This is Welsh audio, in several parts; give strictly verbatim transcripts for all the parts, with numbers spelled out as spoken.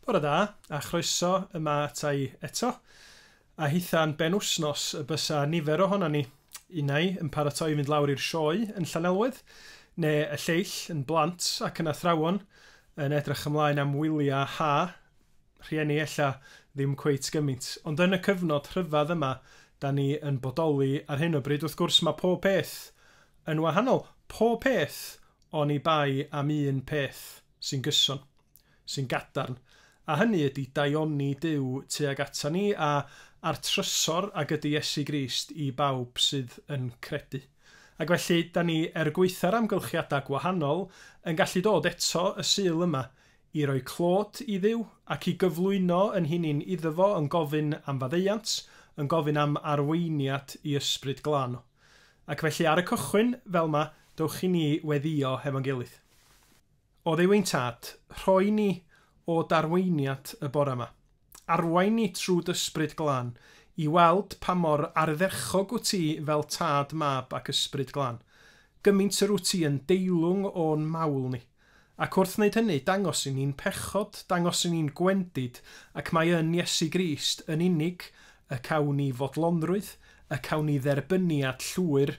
Bore da, a chroeso yma ata i eto. A hitha'n benwsnos y bysa nifer ohonan ni, unai yn paratoi i fynd lawr i'r sioe yn Llanelwedd, neu y lleill yn blant ac yn athrawon yn edrych ymlaen am wyliau ha, rhieni ella ddim cweit gymaint. Ond yn y cyfnod rhyfedd yma, da ni yn bodoli ar hyn o bryd. Wrth gwrs mae pob peth yn wahanol. Pob peth oni bai am un peth sy'n gyson, sy'n gadarn. A hynny ydy daioni Duw tuag ata ni a a'r trysor ag ydy Iesu Grist i bawb sydd yn credu. Ac felly, da ni er gwaetha'r amgylchiadau gwahanol yn gallu dod eto y Sul yma i roi clod i Dduw ac i gyflwyno yn hunain iddo fo yn gofyn am faddeuant, yn gofyn am arweiniad i ysbryd glân. Ac felly ar y cychwyn, fel yma, dowch i ni weddio hefo'n gilydd. O Dduw ein tad, rhoi ni o darweiniad y bore yma. Arwain ni trwy ysbryd glân i weld pa mor ardderchog wyt ti fel tad, mab ac ysbryd glân. Gymaint yr wyt ti yn deilwng o'n mawl ni. Ac wrth wneud hynny, dangos i ni'n pechod, dangos i ni'n gwendid, ac mae yn Iesu Grist yn unig y cawn ni fodlonrwydd, y cawn ni dderbyniad llwyr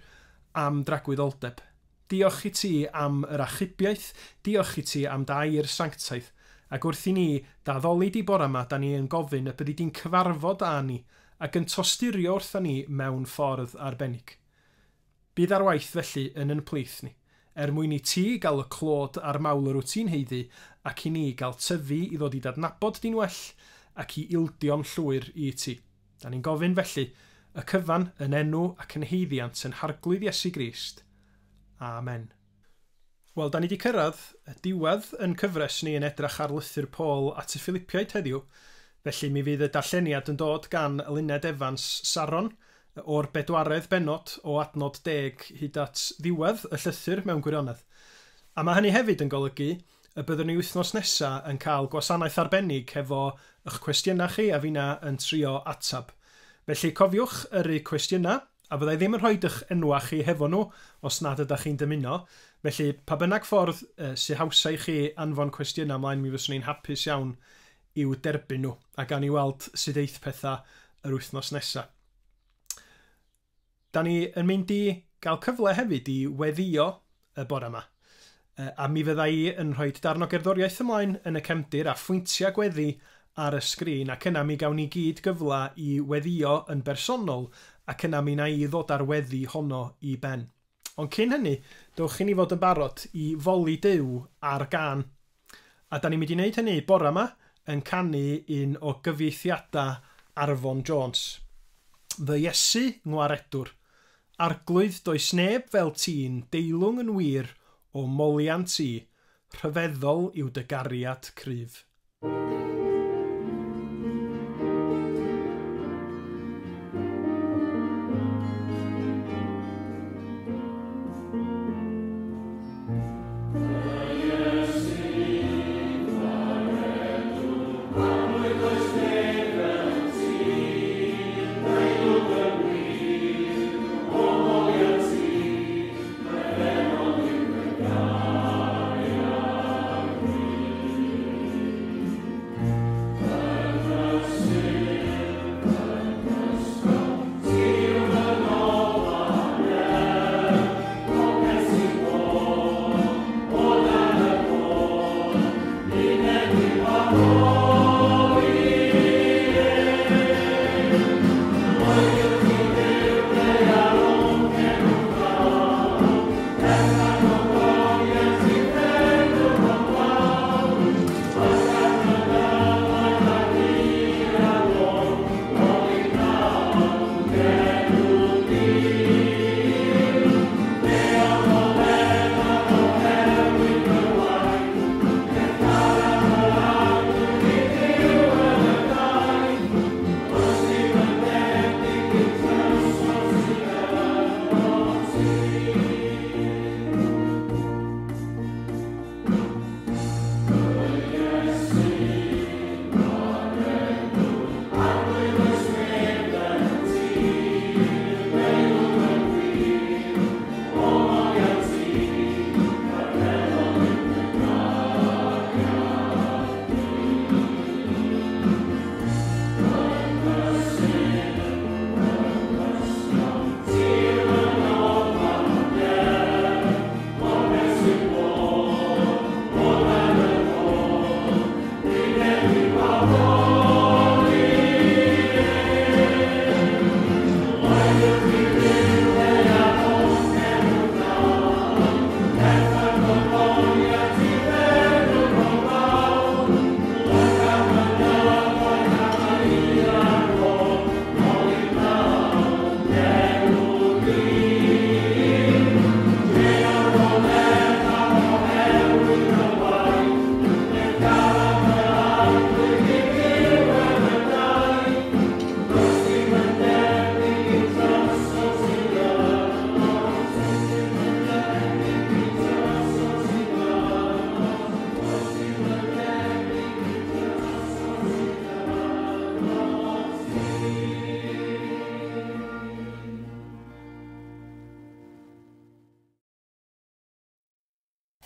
am dragwyddoldeb. Diolch i ti am yr achubiaeth, diolch i ti am dair sanctaidd. Ac wrth i ni daddoli di bore yma, da ni yn gofyn y byddi di'n cyfarfod â ni ac yn tosturio wrtha ni mewn ffordd arbennig. Bydd ar waith felly yn yn plith ni, er mwyn i ti gael y clod a'r mawl yr wyt ti'n haeddu ac i ni gael tyfu i ddod i dadnabod di'n well ac i ildio'n llwyr i ti. Da ni'n gofyn felly y cyfan yn enw ac yn haeddiant yn Harglwydd Iesu Grist. Amen. Wel, da ni wedi cyrraedd y diwedd yn cyfres ni yn edrych ar lythyr Paul at y Philippiaid heddiw. Felly mi fydd y darlleniad yn dod gan Eluned Evans Saron o'r bedwaredd bennod o adnod deg hyd at ddiwedd y llythyr mewn gwirionedd. A mae hynny hefyd yn golygu y byddwn ni wythnos nesaf yn cael gwasanaeth arbennig hefo eich cwestiynau chi a finna yn trio atab. Felly cofiwch yrru cwestiynau, a fyddai ddim yn rhoi eich enwa chi hefo nhw os nad ydych chi'n dymuno. Felly, pa bynnag ffordd uh, sy'n hawsa i chi anfon cwestiynau ymlaen, mi fyswn i'n hapus iawn i'w derbyn nhw, a gan i weld sut eith pethau yr wythnos nesaf. Da ni yn mynd i gael cyfle hefyd i weddio y bore yma. Uh, a mi fydda i yn rhoi darn o gerddoriaeth ymlaen yn y cefndir a phwyntiau gweddi ar y sgrin, ac yna mi gawn ni gyd gyfle i weddio yn bersonol, ac yna mi na i ddod ar weddi honno i ben. Ond cyn hynny, dowch i ni fod yn barod i foli Duw ar gân. A da ni'n mynd i wneud hynny bore yma yn canu un o gyfieithiadau Arfon Jones. Fy Iesu ngwaredwr, arglwydd does neb fel ti'n deilwng yn wir o moliant i, rhyfeddol yw dy gariad cryf. Thank you.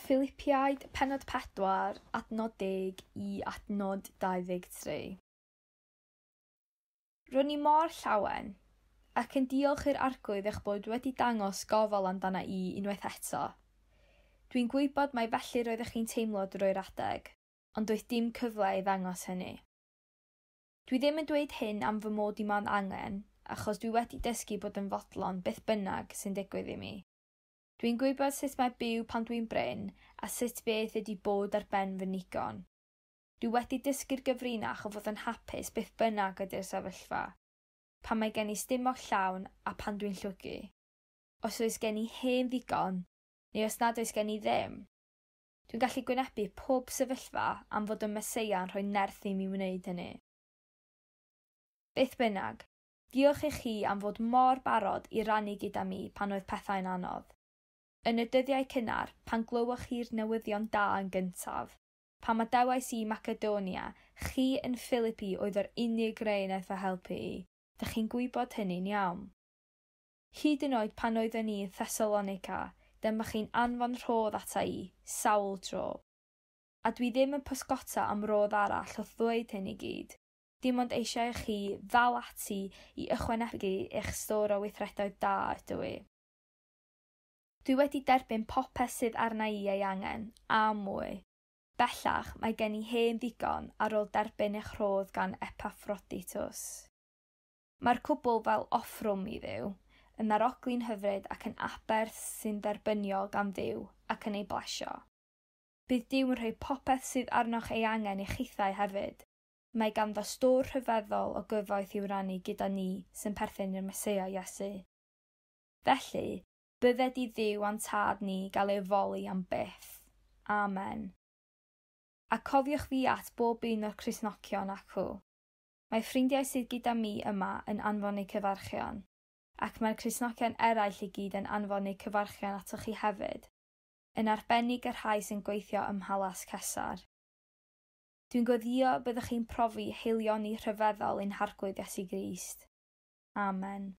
Philipiaid pennod pedwar, adnod deg i adnod dau ddeg tri. Ro'n i mor llawen, ac yn diolch i'r Arglwydd eich bod wedi dangos gofal amdana i unwaith eto. Dwi'n gwybod mai felly roeddech chi'n teimlo drwy'r adeg, ond doedd dim cyfle i ddangos hynny. Dwi ddim yn dweud hyn am fy mod i mewn angen, achos dwi wedi dysgu bod yn fodlon beth bynnag sy'n digwydd i mi. Dwi'n gwybod sut mae byw pan dwi'n brin a sut beth ydy bod ar ben fy nigon. Dwi wedi dysgu'r gyfrinach o fod yn hapus beth bynnag ydy'r sefyllfa, pan mae gen i stumog llawn a pan dwi'n llwgu. Os oes gen i hen ddigon, neu os nad oes gen i ddim. Dwi'n gallu gwynebu pob sefyllfa am fod y Meseia yn rhoi nerth i mi wneud hynny. Beth bynnag, diolch i chi am fod mor barod i rannu gyda mi pan oedd pethau'n anodd. Yn y dyddiau cynnar, pan glywoch chi'r newyddion da yn gyntaf, pan adewais i Macedonia, chi yn Philippi oedd yr unig rei wnaeth fy helpu i. Dych chi'n gwybod hynny'n iawn. Hyd yn oed pan oeddwn i yn Thessalonica, dyma chi'n anfon rhodd ata i, sawl tro. A dwi ddim yn pysgota am rodd arall wrth ddweud hyn i gyd. Dim ond eisiau i chi ddal ati i ychwanegu eich stôr o weithredoedd da ydw i. Dwi wedi derbyn popeth sydd arna i ei angen, a mwy. Bellach, mae gen i hen ddigon ar ôl derbyn eich rhodd gan Epaphroditus. Mae'r cwbl fel offrwm i Dduw, yn arogli'n hyfryd ac yn aberth sy'n dderbyniol gan Dduw ac yn ei blesio. Bydd Duw yn rhoi popeth sydd arnoch ei angen i chithau hefyd. Mae ganddo stôr rhyfeddol o gyfoeth i'w rannu gyda ni sy'n perthyn i'r Meseia Iesu. Felly, bydded i Dduw a'n tad ni gael ei foli am byth. Amen. A cofiwch fi at bob un o'r Cristnogion acw. Mae ffrindiau sydd gyda mi yma yn anfon eu cyfarchion, ac mae'r Cristnogion eraill i gyd yn anfon eu cyfarchion atoch chi hefyd, yn arbennig y rhai sy'n gweithio ym Mhalas Cesar. Dwi'n gweddïo byddwch chi'n profi haelioni rhyfeddol ein Harglwydd Iesu Grist. Amen.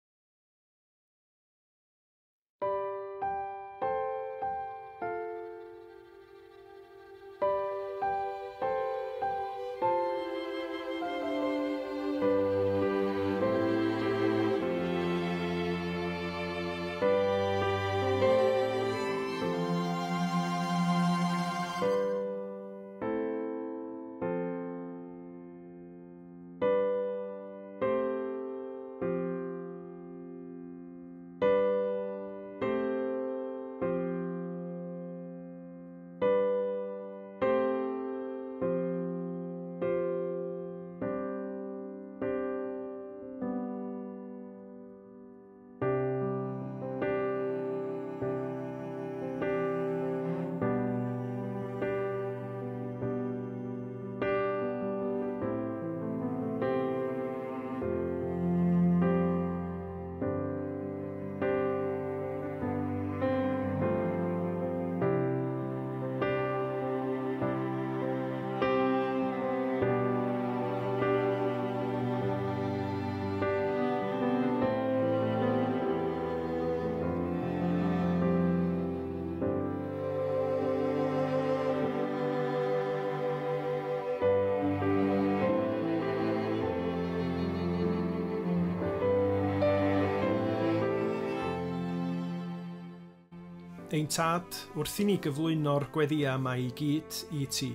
Ein tad, wrth i ni gyflwyno'r gweddïau yma i gyd i ti,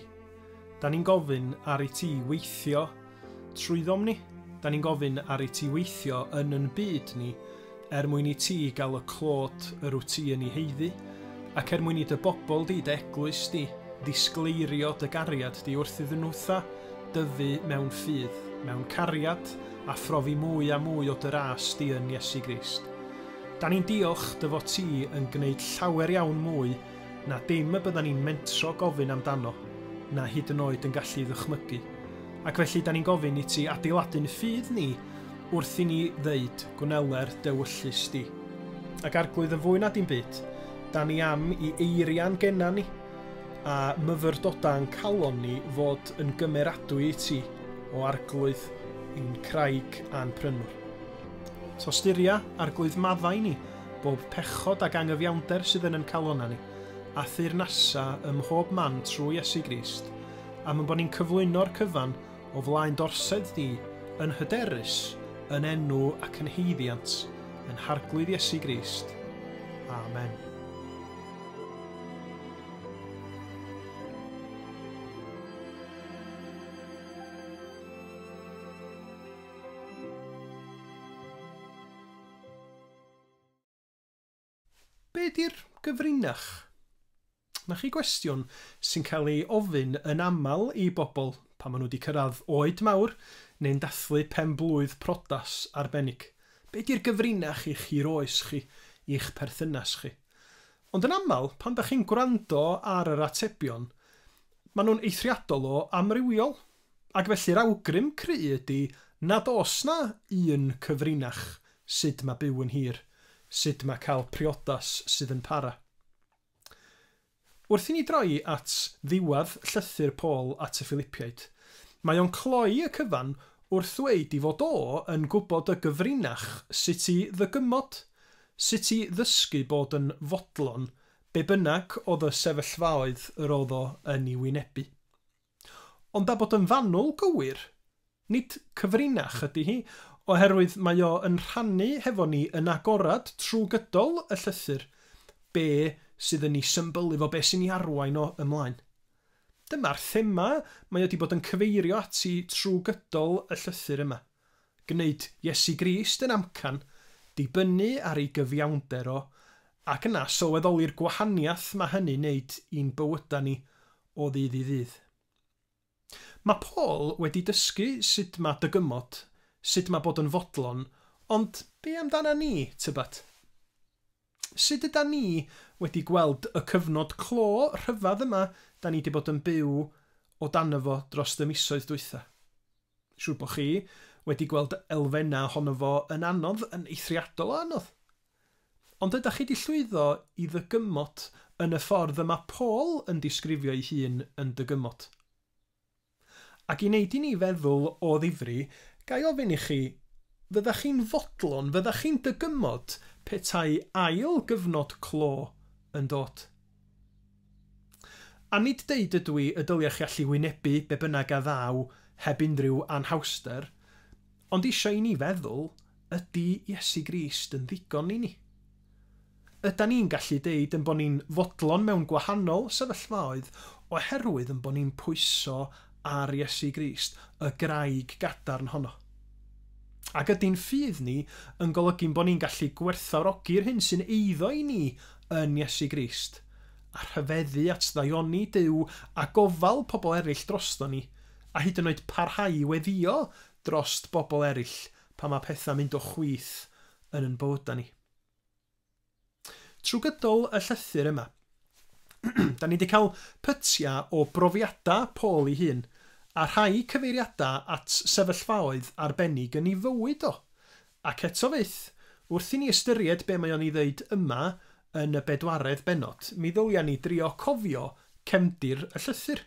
da ni'n gofyn ar i ti weithio trwyddom ni. Da ni'n gofyn ar i ti weithio yn yn byd ni, er mwyn i ti gael y clod yr wyt ti yn ei haeddu, ac er mwyn i dy bobl di, dy eglwys di, ddisgleirio dy gariad di wrth iddyn nhwtha dyfu mewn ffydd, mewn cariad, a phrofi mwy a mwy o dy ras di yn Iesu Grist. Da ni'n diolch dy fod ti yn gwneud llawer iawn mwy na dim y byddan ni'n mentro gofyn amdano, na hyd yn oed yn gallu ddychmygu. Ac felly da ni'n gofyn i ti adeiladu'n ffydd ni wrth i ni ddeud gwneler dewyllys di. Ac Arglwydd, yn fwy na dim byd, da ni am i eiriau'n genna ni a myfyrdoda'n calon ni fod yn gymeradwy i ti o Arglwydd ein craig a'n prynwr. Tosturia, Arglwydd, maddau ni bob pechod ac angyfiawnder sydd yn ein calonna ni, a theyrnasa ym mhob man trwy Iesu Grist, am ein bod ni'n cyflwyno'r cyfan o flaen d'orsedd di yn hyderus, yn enw ac yn haeddiant, yn Harglwydd Iesu Grist. Amen. Be di'r gyfrinach? Na chi gwestiwn sy'n cael ei ofyn yn aml i bobl pan maen nhw wedi cyrraedd oed mawr neu'n dathlu pen-blwydd priodas arbennig. Be di'r gyfrinach i chi'r oes chi, i'ch perthynas chi? Ond yn aml, pan da chi'n gwrando ar yr atebion, maen nhw'n eithriadol o amrywiol. Ac felly'r awgrym cry ydy nad oes na un cyfrinach sut mae byw yn hir, sut mae cael priodas sydd yn para. Wrth i ni droi at ddiwedd llythyr Paul at y Philippiaid, mae o'n cloi y cyfan wrth ddweud i fod o yn gwybod y gyfrinach sut i ddygymod, sut i ddysgu bod yn fodlon be bynnag oedd y sefyllfaoedd yr oedd o yn ei wynebu. Ond a bod yn fanwl gywir, nid cyfrinach ydy hi, oherwydd mae o yn rhannu hefo ni yn agorad trwy gydol y llythyr be sydd yn ei symbylu fo, be sy'n ei arwain o ymlaen. Dyma'r thema mae o wedi bod yn cyfeirio ati trwy gydol y llythyr yma. Gwneud Iesu Grist yn amcan, dibynnu ar ei gyfiawnder o, ac yna sylweddoli'r gwahaniaeth mae hynny'n wneud i'n bywydau ni o ddydd i ddydd. Mae Paul wedi dysgu sut mae dygymod, sut mae bod yn fodlon, ond be amdana ni, tybed? Sut yda ni wedi gweld y cyfnod clo rhyfedd yma da ni wedi bod yn byw o dan fo dros y misoedd dwytha? Siŵr bod chi wedi gweld elfennau ohono fo yn anodd, yn eithriadol o anodd. Ond ydych chi wedi llwyddo i ddygymod yn y ffordd yma Paul yn disgrifio ei hun yn dygymod? Ac i wneud i ni feddwl o ddifri, ga i ofyn i chi, fyddach chi'n fodlon, fyddach chi'n dygymod petai ail gyfnod clo yn dod? A nid deud ydw i y dylia chi allu wynebu be bynnag a ddaw heb unrhyw anhawster, ond eisiau i ni feddwl, ydy Iesu Grist yn ddigon i ni? Ydan ni'n gallu deud yn bod ni'n fodlon mewn gwahanol sefyllfaoedd oherwydd yn bod ni'n pwyso ar Iesu Grist, y graig gadarn honno? Ac ydy'n ffydd ni yn golygu'n bod ni'n gallu gwerthfawrogi'r hyn sy'n eiddo i ni yn Iesu Grist, a rhyfeddu at ddaioni Duw a gofal pobl eraill drosto ni, a hyd yn oed parhau i weddïo drost bobl eraill pan mae pethau'n mynd o chwith yn ein bywydau ni. Trwy gydol y llythyr yma, da ni wedi cael pytiau o brofiadau Paul ei hun, a rhai cyfeiriadau at sefyllfaoedd arbennig yn ei fywyd o. Ac eto fyth, wrth i ni ystyried be mae o'n ei ddeud yma yn y bedwaredd bennod, mi ddylia ni drio cofio cefndir y llythyr.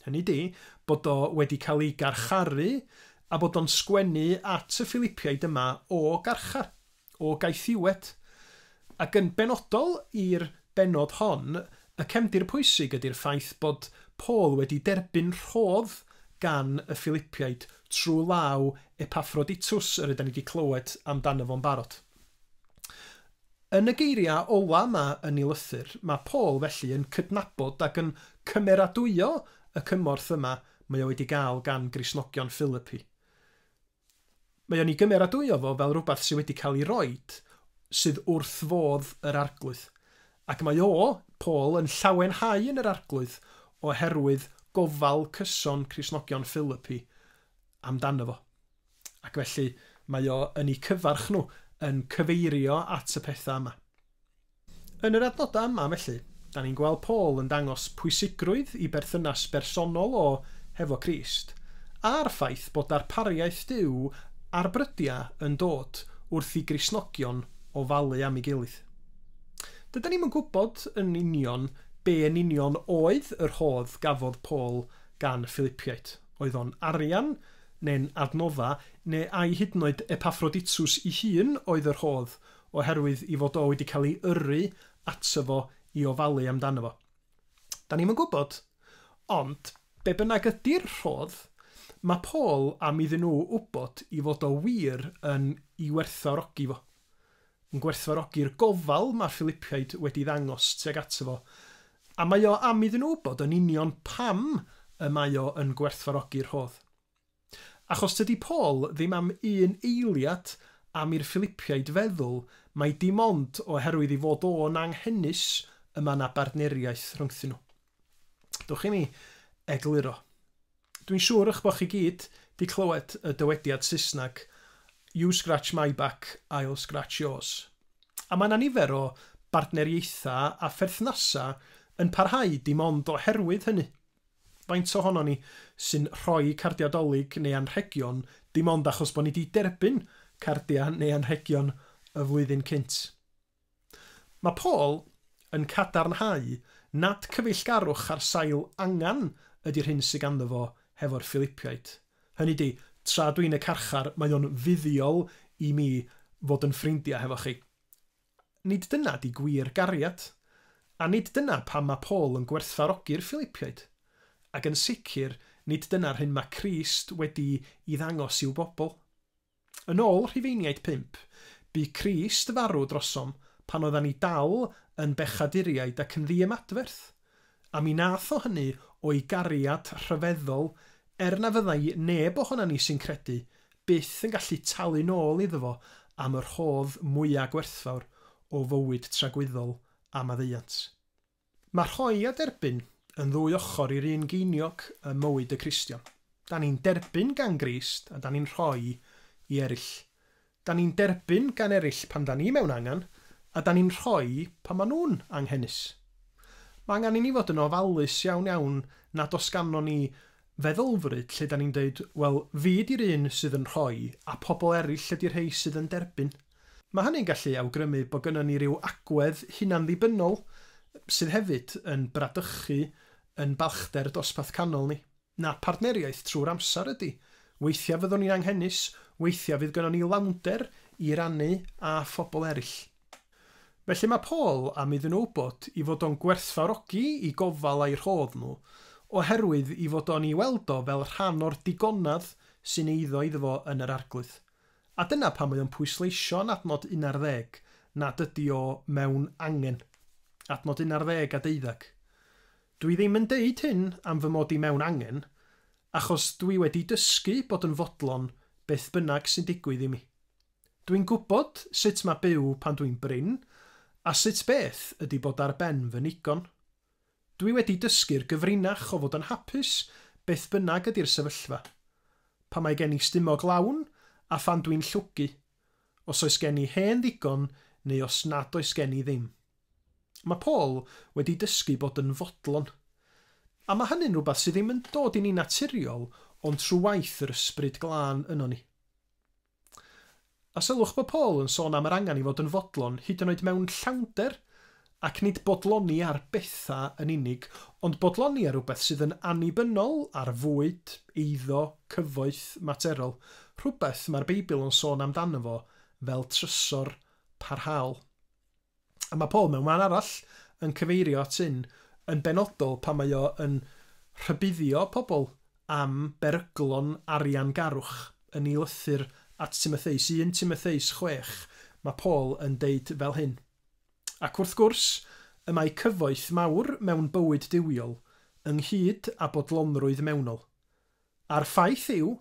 Hynny di, bod o wedi cael ei garcharu a bod o'n sgwennu at y Philippiaid yma o garchar, o gaethiwed. Ac yn benodol i'r bennod hon, y cefndir pwysig ydy'r ffaith bod Paul wedi derbyn rhodd gan y Philippiaid trwy law Epaphroditus, yr ydyn ni wedi clywed amdano fo'n barod. Yn y geiriau ola yma yn ei lythyr, mae Paul felly yn cydnabod ac yn cymeradwyo y cymorth yma mae o wedi gael gan Gristnogion Philippi. Mae o'n ei gymeradwyo fo fel rhywbeth sydd wedi cael ei roid sydd wrth fodd yr Arglwydd. Ac mae o, Paul, yn llawenhau yn yr Arglwydd oherwydd gofal cyson Cristnogion Philippi amdano fo. Ac felly mae o yn ei cyfarch nhw, yn cyfeirio at y pethau yma. Yn yr adnodau yma felly, da ni'n gweld Paul yn dangos pwysigrwydd i berthynas bersonol o hefo Crist, a'r ffaith bod darpariaeth Duw ar brydiau yn dod wrth i Gristnogion ofalu am ei gilydd. Dydan ni'm yn gwybod yn union be yn union oedd yr rhodd gafodd Paul gan y Philippiaid. Oedd o'n arian, neu'n adnodda, neu ai hyd yn oed Epaphroditus ei hun oedd yr rhodd, oherwydd i fod o wedi cael ei yrru ato fo i ofalu amdano fo. Da ni'm yn gwybod, ond be bynnag ydy'r rhodd, mae Paul am iddyn nhw wybod i fod o wir yn i werthfawrogi fo. Yn gwerthfawrogi'r gofal mae'r Philippiaid wedi ddangos tuag ato fo. A mae o am iddyn nhw wybod yn union pam y mae o yn gwerthfawrogi'r rhodd. Achos tydi Paul ddim am un eiliad am i'r Philippiaid feddwl mai dim ond oherwydd i fod o'n anghenus y mae yna bartneriaeth rhyngthyn nhw. Dwch i mi egluro. Dwi'n siŵr eich bod chi gyd di clywed y dywediad Saesneg "You scratch my back, I'll scratch yours." A mae yna nifer o bartneriaethau a pherthnasau yn parhau dim ond oherwydd hynny. Faint ohono ni sy'n rhoi cardiau Dolig neu anrhegion dim ond achos bod ni wedi derbyn cardiau neu anrhegion y flwyddyn cynt. Mae Paul yn cadarnhau nad cyfeillgarwch ar sail angan ydy'r hyn sydd ganddo fo hefo'r Philippiaid. Hynny di, tra dwi'n y carchar, mae o'n fuddiol i mi fod yn ffrindiau hefo chi. Nid dyna di gwir gariad, a nid dyna pam mae Paul yn gwerthfawrogi'r Philippiaid. Ac yn sicr, nid dyna'r hyn mae Crist wedi i ddangos i'w bobl. Yn ôl Rhufeiniaid pump, bu Crist farw drosom pan oeddan ni dal yn bechaduriaid ac yn ddiymadferth. A mi nath o hynny o'i gariad rhyfeddol, er na fyddai neb ohonan ni sy'n credu byth yn gallu talu nôl iddo fo am yr rhodd mwyaf gwerthfawr o fywyd tragwyddol a maddeuant. Mae rhoi a derbyn yn ddwy ochr i'r un geiniog ym mywyd y Cristion. Da ni'n derbyn gan Grist a da ni'n rhoi i eraill. Da ni'n derbyn gan eraill pan da ni mewn angen, a da ni'n rhoi pan maen nhw'n anghenus. Mae angen i ni fod yn ofalus iawn iawn nad oes ganddo ni feddylfryd lle da ni'n dweud, wel, fi di'r un sydd yn rhoi a pobl eraill ydy'r rhai sydd yn derbyn. Mae hynny'n gallu awgrymu bod gynnon ni ryw agwedd hunan-ddibynnol sydd hefyd yn bradychu yn balchder dosbarth canol ni. Na, partneriaeth trwy'r amser ydy. Weithiau fyddwn ni'n anghenus, weithiau fydd gynnon ni lawnder i rannu â phobl eraill. Felly mae Paul am iddyn nhw wybod i fod o'n gwerthfawrogi i gofal a'i rhodd nhw, oherwydd i fod o'n i weld o fel rhan o'r digonedd sy'n eiddo iddo fo yn yr Arglwydd. A dyna pam mae o'n pwysleisio yn adnod un ar ddeg nad ydy o mewn angen. Adnod un ar ddeg a deuddag. Dwi ddim yn deud hyn am fy mod i mewn angen, achos dwi wedi dysgu bod yn fodlon beth bynnag sy'n digwydd i mi. Dwi'n gwybod sut mae byw pan dwi'n brin, a sut beth ydy bod ar ben fy nigon. Dwi wedi dysgu'r gyfrinach o fod yn hapus beth bynnag ydy'r sefyllfa. Pan mae gen i stumog lawn a phan dwi'n llwgu, os oes gen i hen ddigon neu os nad oes gen i ddim. Mae Paul wedi dysgu bod yn fodlon. A mae hynny'n rhywbeth sydd ddim yn dod i ni naturiol, ond trwy waith yr ysbryd glân yno ni. A sylwch bod Paul yn sôn am yr angen i fod yn fodlon, hyd yn oed mewn llawnder, ac nid bodloni ar bethau yn unig, ond bodloni ar rhywbeth sydd yn annibynnol ar fwyd, eiddo, cyfoeth, materol, rhywbeth mae'r Beibl yn sôn amdano fo fel trysor parhaol. A mae Paul mewn man arall yn cyfeirio at hyn yn benodol pan mae o yn rhybuddio pobl am beryglon ariangarwch yn ei lythyr at Timotheus, un Timotheus chwech, mae Paul yn deud fel hyn. Ac wrth gwrs, y mae cyfoeth mawr mewn bywyd duwiol, ynghyd â bodlonrwydd mewnol. A'r ffaith yw,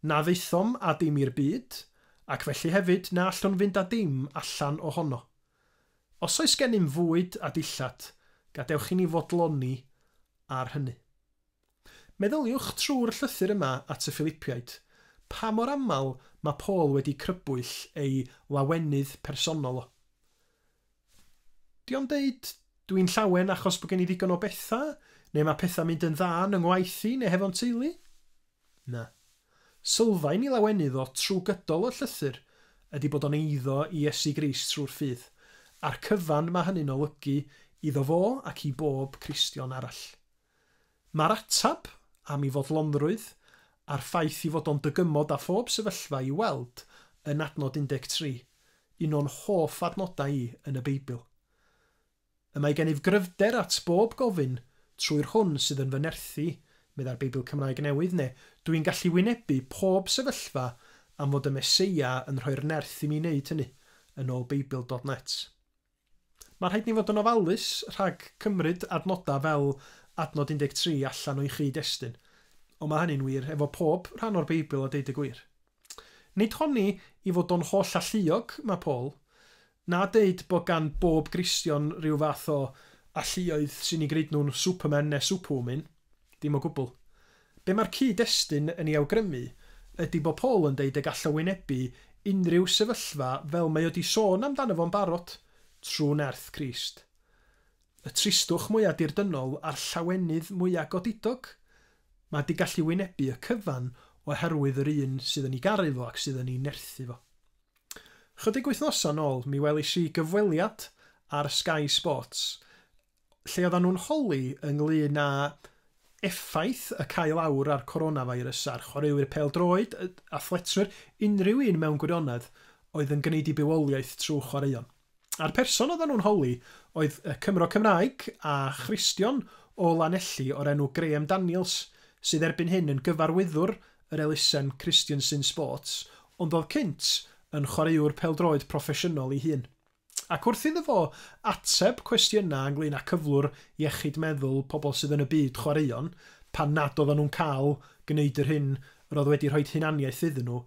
na ddaethom â dim i'r byd, ac felly hefyd na allwn fynd â dim allan ohono. Os oes gennym fwyd a dillad, gadewch i ni fodloni ar hynny. Meddyliwch trwy'r llythyr yma at y Philippiaid, pa mor aml mae Paul wedi crybwyll ei lawenydd personol o. Di o'n deud, dwi'n llawen achos bod gen i ddigon o bethau, neu mae pethau mynd yn dda yn ngwaith i neu hefo'n teulu? Na. Sylfaen i lawenydd o trwy gydol y llythyr ydy bod o'n eiddo i Iesu Grist trwy'r ffydd, a'r cyfan mae hynny'n olygu iddo fo ac i bob Cristion arall. Mae'r atab am ei fodlonrwydd a'r ffaith i fod o'n dygymod â phob sefyllfa i weld yn adnod un deg tri, un o'n hoff adnodau i yn y Beibl. Y mae gennyf gryfder at bob gofyn trwy'r hwn sydd yn fy nerthu, meddai'r Beibl Cymraeg Newydd, neu dwi'n gallu wynebu pob sefyllfa am fod y Meseia yn rhoi'r nerth i mi wneud hynny, yn ôl Beibl dot net. Mae rhaid ni fod yn ofalus rhag cymryd adnodau fel adnod un deg tri allan o'i chyd-destun, ond mae hynny'n wir efo pob rhan o'r Beibl a deud y gwir. Nid honni i fod o'n holl alluog, mae Paul, na deud bod gan bob Gristion rhyw fath o alluoedd sy'n ei gwneud nhw'n Superman neu Superwoman, dim o gwbl. Be mae'r cyd-destun yn ei awgrymu ydy bod Paul yn deud y gall o wynebu unrhyw sefyllfa fel mae o di sôn amdano fo'n barod trwy nerth Crist. Y tristwch mwyaf dirdynnol a'r llawenydd mwyaf godidog. Mae di gallu wynebu y cyfan oherwydd yr un sydd yn ei garu fo ac sydd yn ei nerthu fo. Chydig wythnosau nôl, mi welis i gyfweliad ar Sky Sports, lle oedden nhw'n holi ynglyn â effaith y cael awr ar coronavirus a'r chwaraewyr pêl-droed, athletwyr, unrhyw un mewn gwirionedd oedd yn gwneud i bywoliaeth trwy chwaraeon. A'r person oedden nhw'n holi oedd y Cymro Cymraeg a Christian o Lanelli o'r enw Graham Daniels, sydd erbyn hyn yn gyfarwyddwr yr elusen Christians in Sports, ond oedd cynt yn chwaraewr pêl-droed proffesiynol ei hun. Ac wrth iddo fo ateb cwestiynau ynglyn â cyflwr iechyd meddwl pobl sydd yn y byd chwaraeon, pan nad oedden nhw'n cael gwneud yr hyn yr oedd wedi rhoi hunaniaeth iddyn nhw,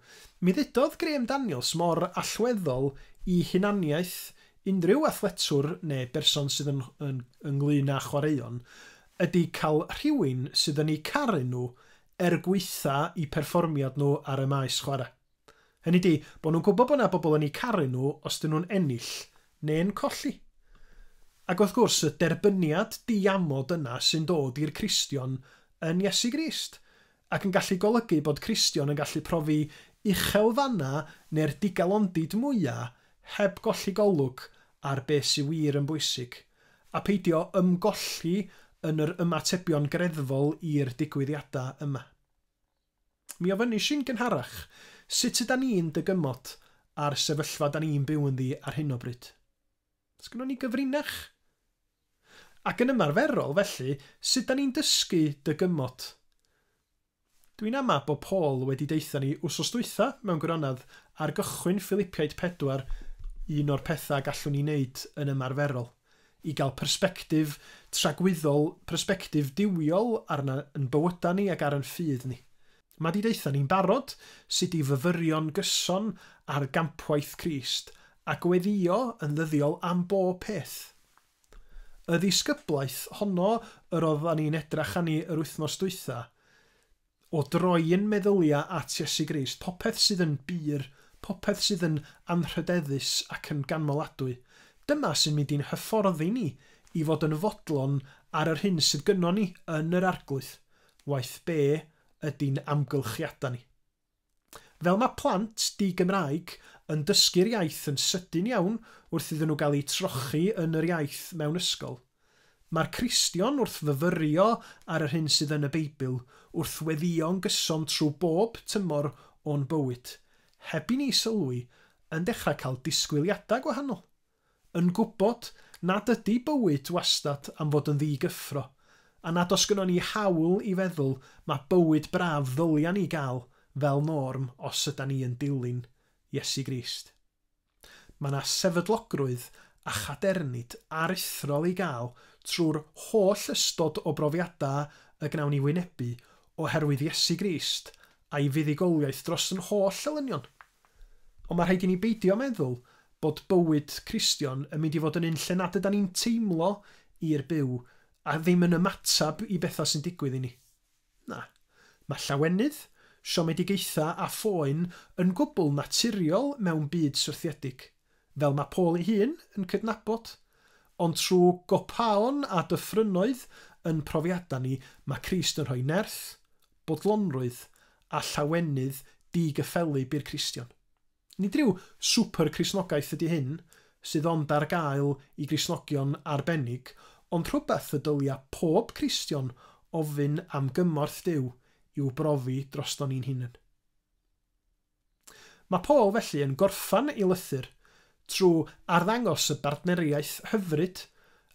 mi ddudodd Graham Daniels mor allweddol i hunaniaeth unrhyw athletwr neu berson sydd yn, yn, ynglyn â chwaraeon ydy cael rhywun sydd yn eu caru nhw er gweitha i perfformiad nhw ar y maes chwarae. Hynny di, bod nhw'n gwybod bod yna bobl yn eu caru nhw os dyn nhw'n ennill neu'n colli. Ac wrth gwrs, y derbyniad diamod yna sy'n dod i'r Cristion yn Iesu Grist, ac yn gallu golygu bod Cristion yn gallu profi uchelfanna neu'r digalondid mwyaf heb golli golwg ar beth sy'n wir yn bwysig, a peidio ymgolli yn yr ymatebion greddfol i'r digwyddiadau yma. Mi ofynis i'n gynharach, sut ydan ni'n dygymod ar sefyllfa da ni'n byw ynddi ar hyn o bryd? Sgynnon ni gyfrinach? Ac yn ymarferol, felly, sut da ni'n dysgu dygymod? Dwi'n ama bod Paul wedi deitha ni wsos dwytha mewn gwirionedd ar gychwyn Philippiaid pedwar, un o'r pethau gallwn ni wneud yn ymarferol, i gael persbectif tragwyddol, persbectif duwiol arna yn bywydau ni ac ar yn ffydd ni. Mae di deitha ni'n barod sut i fyfyrio'n gyson ar gampwaith Crist a gweddio yn ddyddiol am bob peth. Y ddisgyblaeth honno yr oeddan ni'n edrach arni yr wythnos dwytha, o droi'n meddyliau at Iesu Grist, popeth sydd yn bur, popeth sydd yn anrhydeddus ac yn ganmoladwy. Dyma sy'n mynd i'n hyfforddi ni i fod yn fodlon ar yr hyn sydd gynnon ni yn yr arglwydd, waeth be ydy'n amgylchiadau ni. Fel mae plant di-Gymraeg yn dysgu'r iaith yn sydyn iawn wrth iddyn nhw gael eu trochi yn yr iaith mewn ysgol, mae'r Cristion wrth fyfyrio ar yr hyn sydd yn y Beibl wrth weddïo'n gyson trwy bob tymor o'n bywyd, heb i ni sylwi, yn dechrau cael disgwyliadau gwahanol, yn gwybod nad ydy bywyd wastad am fod yn ddigyffro, a nad os gynnon ni hawl i feddwl mae bywyd braf ddylia ni gael fel norm os ydan ni yn dilyn Iesu Grist. Mae yna sefydlogrwydd a chadernid aruthrol i gael trwy'r holl ystod o brofiadau y gnawn ni wynebu oherwydd Iesu Grist a'i fuddugoliaeth dros yn holl elynion. Ond mae rhaid i ni beidio meddwl bod bywyd Cristion yn mynd i fod yn un lle nad ydan ni'n teimlo i'r byw a ddim yn ymatab i bethau sy'n digwydd i ni. Na, mae llawenydd, siomedigaethau a phoen yn gwbl naturiol mewn byd syrthiedig, fel mae Paul ei hun yn cydnabod. Ond trwy gopaon a dyffrynnoedd yn profiadau ni, mae Crist yn rhoi nerth, bodlonrwydd a llawenydd digyffelyb i'r Cristion. Nid rhyw super Cristnogaeth ydy hyn, sydd ond ar gael i Gristnogion arbennig, ond rhywbeth y dylia pob Cristion ofyn am gymorth Duw i'w brofi droston ni'n hunain. Mae Paul felly yn gorffan ei lythyr trwy arddangos y bartneriaeth hyfryd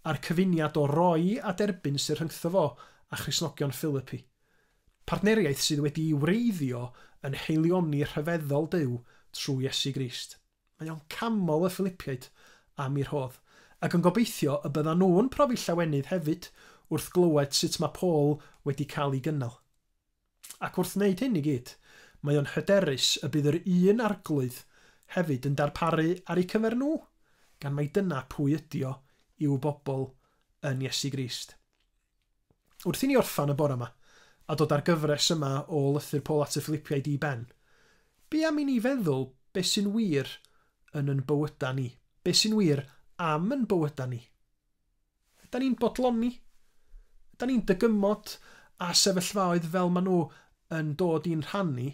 a'r cyfuniad o roi a derbyn sy'n rhyngtho fo a Christnogion Philippi. Partneriaeth sydd wedi'i wreiddio yn heilioni rhyfeddol Duw trwy Iesu Grist. Mae o'n camol y Philippiaid am ei rhodd, ac yn gobeithio y byddan nhw'n profi llawenydd hefyd wrth glywed sut mae Paul wedi cael ei gynnal. Ac wrth wneud hyn i gyd, mae o'n hyderus y bydd yr un arglwydd hefyd yn darparu ar eu cyfer nhw, gan mai dyna pwy ydi o i'w bobl yn Iesu Grist. Wrth i ni orffan y bore yma, a dod ar gyfres yma o lythyr Paul at y Philippiaid i ben, be am i ni feddwl beth sy'n wir yn yn bywyda ni? Be sy'n wir am yn bywyda ni? Ydan ni'n bodloni? Ydan ni'n dygymod a sefyllfaoedd fel maen nhw yn dod i'n rhannu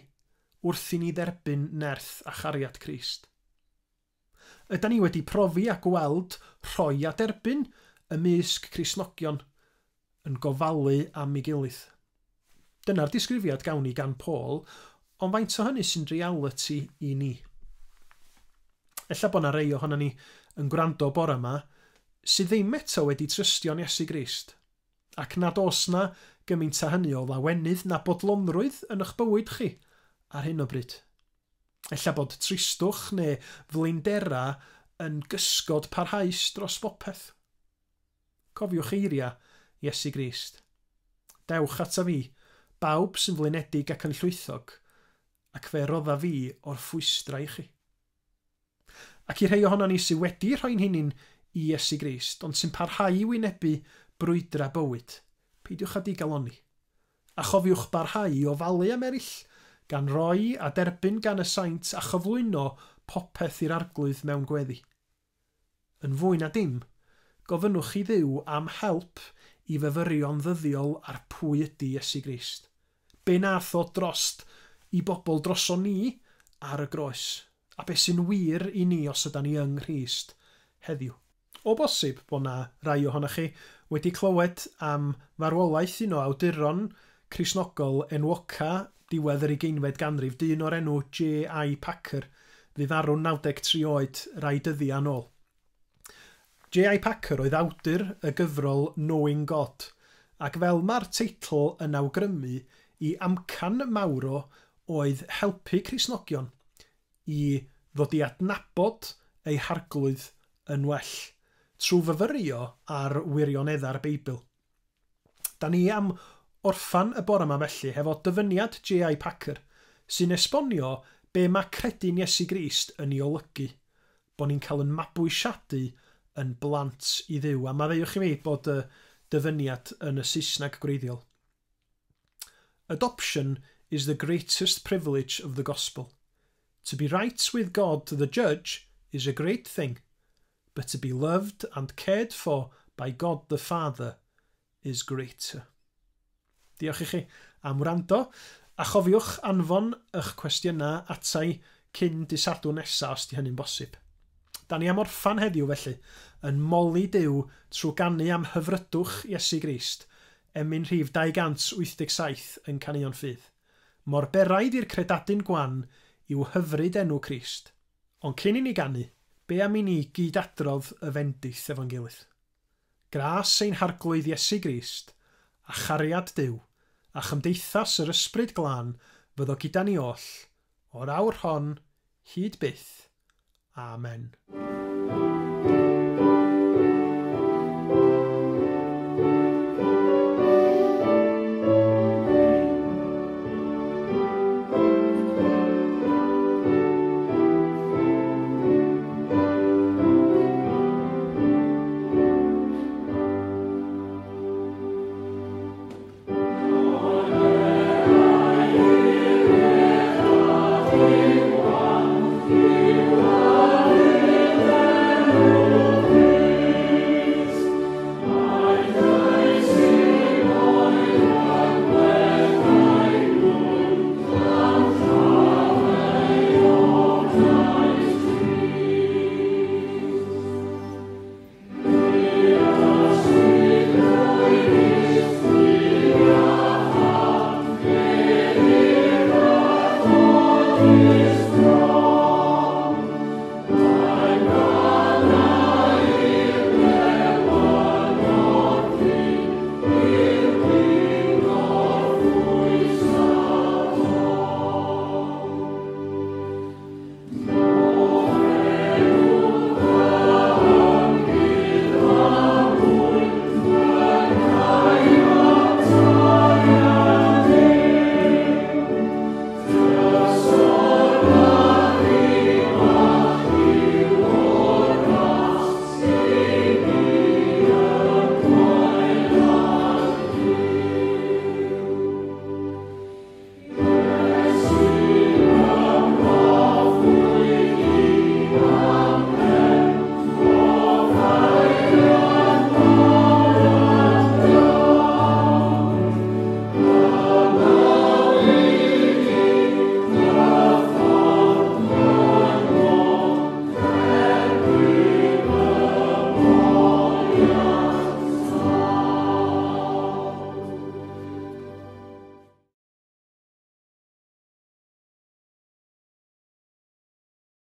wrth i ni dderbyn nerth a chariad Crist? Ydan ni wedi profi a gweld rhoi a derbyn ymysg Cristnogion yn gofalu am ei gilydd? Dyna'r disgrifiad gawn ni gan Paul, ond faint o hynny sy'n reality i ni? Ella bod 'na rei ohono ni yn gwrando bore yma sydd ddim eto wedi trystio'n Iesu Grist, ac nad oes na gymaint â hynny o lawenydd na bodlonrwydd yn eich bywyd chi ar hyn o bryd. Ella bod tristwch neu flindera yn gysgod parhaus dros bopeth. Cofiwch eiriau Iesu Grist. Dewch ata fi, bawb sy'n flinedig ac yn llwythog, ac fe rodda fi o'r ffwystra i chi. Ac i rhai ohono ni sydd wedi rhoi'n hunain i Iesu Grist, ond sy'n parhau i wynebu brwydra bywyd, peidiwch â digalonni. A chofiwch barhau i ofalu am eraill, gan roi a derbyn gan y saint a chyflwyno popeth i'r arglwydd mewn gweddi. Yn fwy na dim, gofynnwch i Dduw am help i fyfyrio'n ddyddiol ar pwy ydy Iesu Grist. Be nath o drost i bobl droso ni ar y groes, a be sy'n wir i ni os ydan ni yng Nghrist heddiw. O bosib bod na rai ohonoch chi wedi clywed am farwolaeth un o awduron Cristnogol enwoca diwedd yr ugeinfed ganrif, dyn o'r enw J I Packer, fu farw'n naw deg tri oed rai dyddiau yn ôl. J I Packer oedd awdur y gyfrol Knowing God, ac fel mae'r teitl yn awgrymu, i amcan mawr o oedd helpu Cristnogion i ddod i adnabod eu harglwydd yn well, trwy fyfyrio ar wirionedda'r Beibl. Da ni am orffan y bore yma felly hefo dyfyniad J I Packer, sy'n esbonio be mae credu'n Iesu Grist yn ei olygu, bod ni'n cael yn mabwysiadu yn blant i Dduw. A maddeuwch i mi bod y dyfyniad yn y Saesneg gwreiddiol. Adoption is the greatest privilege of the gospel. To be right with God the judge is a great thing, but to be loved and cared for by God the Father is greater. Diolch i chi am wrando, a chofiwch anfon eich cwestiynau atai cyn dydd Sadwrn nesaf os di hynny'n bosib. Da ni am orffan heddiw felly, yn moli Duw trwy ganu am hyfrydwch Iesu Grist, emyn rhif dau gant wyth deg saith yn Caneuon Ffydd. Mor beraidd i'r credadun gwan i'w hyfryd enw Crist. Ond cyn i ni ganu, be am i ni gyd-adrodd y fendith efo'n gilydd? Gras ein harglwydd Iesu Grist, a chariad Duw, a chymdeithas yr Ysbryd Glân fyddo gyda ni oll, o'r awr hon, hyd byth. Amen.